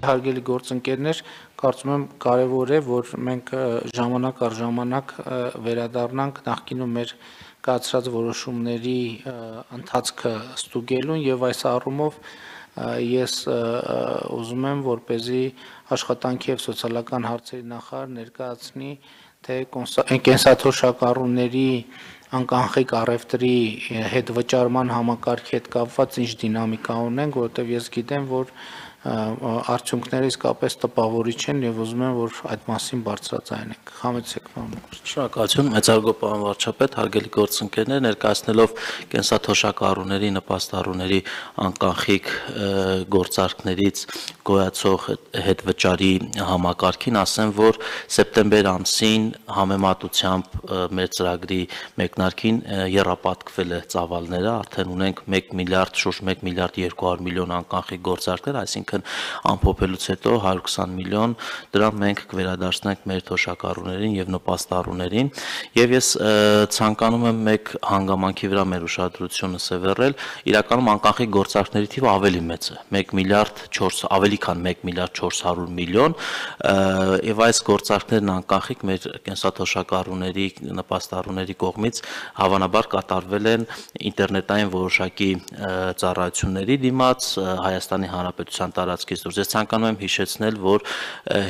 հարգելի գործընկերներ, կարծում եմ կարևոր է, որ մենք ժամանակ առ ժամանակ վերադառնանք նախկինում մեր կայացրած որոշումների ընթացքը ստուգելուն եւ այս առումով ես ուզում եմ, որպեսզի աշխատանքի եւ սոցիալական հարցերի նախարար ներկայացնի, թե կենսաթոշակառուների անկանխիկ առևտրի հետ վճարման համակարգի հետ կապված ինչ դինամիկա ունենք, որովհետեւ ես գիտեմ, որ արդյունքները իսկապես տպավորիչ են եւ ուզում եմ, որ այդ մասին բարձրաձայնենք։ Խամեցեք, պարոն Վարչապետ։ Շնորհակալություն, մեծարգո պարոն վարչապետ, հարգելի գործընկերներ, ներկայացնելով կենսաթոշակառուների, նպաստառուների անկանխիկ գործարքներից գոյացող հետվճարի համակարգին, ասեմ, որ սեպտեմբեր ամսին համեմատությամբ մեր ծրագրի մեկնարկին եռապատկվել է ծավալները, արդեն ունենք 1 միլիարդ, շուրջ 1 միլիարդ 200 միլիոն անկանխիկ գործարքներ, այսինքն ամփոփելուց հետո 120 միլիոն դրամ մենք կվերադարձնենք մեր թոշակառուներին եւ նպաստառուներին եւ ես ցանկանում եմ մեկ հանգամանքի վրա մեր ուշադրությունը սևեռել, իրականում անկանխիկ գործարքների թիվը ավելի մեծ է, 1 միլիարդ 400, ավելի քան 1 միլիարդ 400 միլիոն եւ այս գործարքներն անկանխիկ մեր կենսաթոշակառուների, նպաստառուների կողմից հավանաբար կատարվել են ինտերնետային որոշակի ծառայությունների դիմաց Հայաստանի Հանրապետության տարածքից դուրս։ Ես ցանկանում եմ հիշեցնել, որ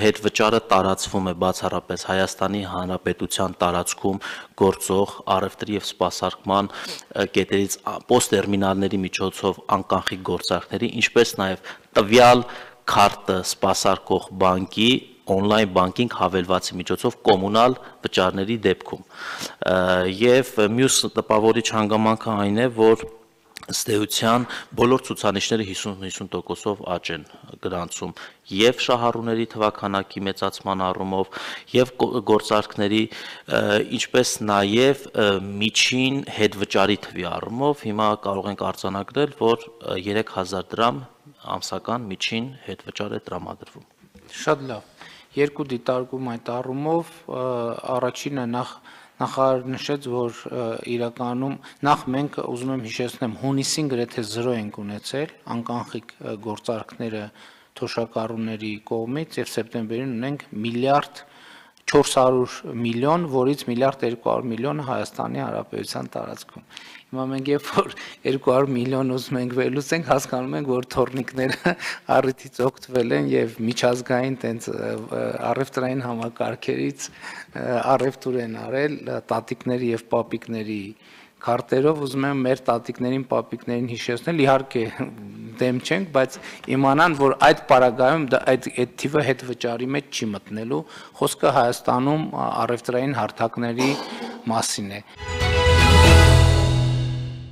հետվճարը տարածվում է բացառապես Հայաստանի Հանրապետության տարածքում գործող առևտրի եւ սպասարկման կետերից պոստտերմինալների միջոցով անկանխիկ գործարքների, ինչպես նաեւ տվյալ քարտը սպասարկող բանկի on-line banking հավելվածի միջոցով կոմունալ վճարների դեպքում։ Եվ մյուս տպավորիչ հանգամանքը այն է, որ ըստ էության բոլոր ցուցանիշները 50-50%-ով աճ են գրանցում եւ շահառուների թվաքանակի մեծացման առումով եւ գործարքների, ինչպես նաեւ միջին հետվճարի թվի առումով հիմա կարող ենք արձանագրել, որ 3000 դրամ ամսական միջին հետվճար է տրամադրվում։ Շատ լավ։ Երկու դիտարկում այդ առումով, առաջինը նախարարը նշեց, որ իրականում նախ մենք ուզում եմ հիշեցնեմ հունիսին գրեթե 0 ենք ունեցել անկանխիկ գործարքները թոշակառուների կողմից եւ սեպտեմբերին ունենք միլիարդ 400 միլիոն, որից միլիարդ 200 միլիոնը Հայաստանի Հանրապետության տարածքում։ Հիմա մենք երբ որ 200 միլիոն ուզում ենք վերլուծենք, հասկանում ենք, որ թորնիկները առիթից օգտվել են եւ միջազգային տենց առևտրային համակարգերից առևտուր են արել տատիկների եւ պապիկների քարտերով, ուզում եմ մեր տատիկներին, պապիկներին հիշեցնել, իհարկե դեմ չենք, բայց իմանան, որ այդ պարագայում այդ թիվը հետ վճարի մեջ չի մտնելու, խոսքը Հայաստանում առևտրային հարթակների մասին է։